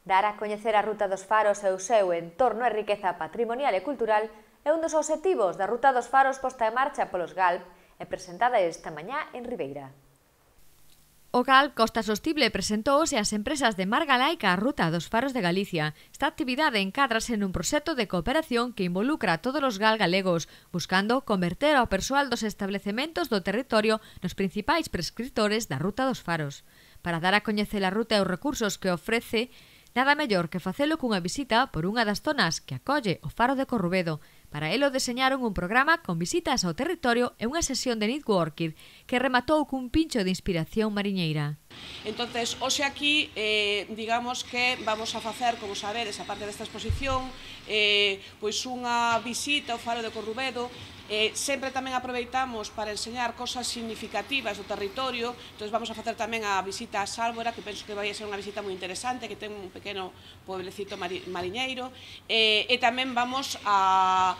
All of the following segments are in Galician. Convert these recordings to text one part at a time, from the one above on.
Dar a coñecer a Ruta dos Faros e o seu entorno e riqueza patrimonial e cultural é un dos obxectivos da Ruta dos Faros posta en marcha polos GALP e presentada esta mañá en Ribeira. O GALP Costa Sostible presentouse ás empresas de Mar Galaica a Ruta dos Faros de Galicia. Esta actividade encádrase nun proxecto de cooperación que involucra a todos os GALP galegos, buscando converter ao persoal dos establecementos do territorio nos principais prescriptores da Ruta dos Faros. Para dar a coñecer a ruta e os recursos que ofrece, nada mellor que facelo cunha visita por unha das zonas que acolle o Faro de Corrubedo. Para elo deseñaron un programa con visitas ao territorio e unha sesión de networking que rematou cun pincho de inspiración mariñeira. Entonces, hoxe aquí, digamos que vamos a facer, como sabedes, a parte desta exposición, pois unha visita ao Faro de Corrubedo. Sempre tamén aproveitamos para enseñar cosas significativas do territorio. Entón vamos a facer tamén a visita a Sálvora, que penso que vai ser unha visita moi interesante, que ten un pequeno pueblecito mariñeiro, e tamén vamos a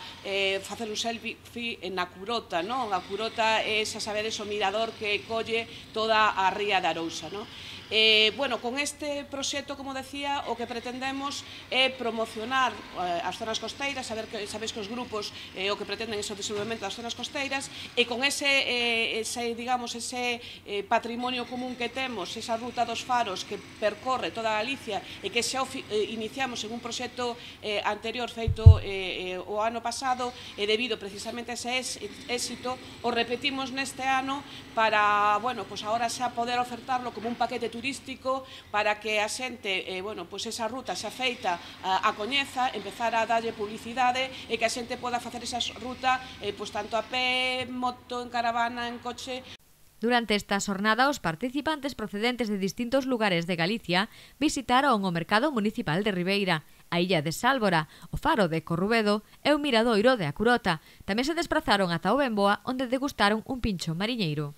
facer un selfie na Curota, non? A Curota é, xa sabedes, o mirador que colle toda a ría da Arousa, non? Bueno, con este proxecto, como decía, o que pretendemos é promocionar as zonas costeiras, sabéis que os grupos o que pretenden é o desenvolvemento das zonas costeiras, e con ese patrimonio común que temos, esa ruta dos faros que percorre toda Galicia e que xa iniciamos en un proxecto anterior feito o ano pasado, e debido precisamente a ese éxito o repetimos neste ano para, bueno, pois agora xa poder ofertarlo como un paquete turístico para que a xente, bueno, pois esa ruta xa feita a coñeza, empezar a darlle publicidade e que a xente poda facer esa ruta pois tanto a pé, moto, en caravana, en coche. Durante esta xornada, os participantes procedentes de distintos lugares de Galicia visitaron o Mercado Municipal de Ribeira, a Illa de Sálvora, o Faro de Corrubedo e o Miradoiro de A Curota. Tamén se desprazaron ata o Benboa, onde degustaron un pincho mariñeiro.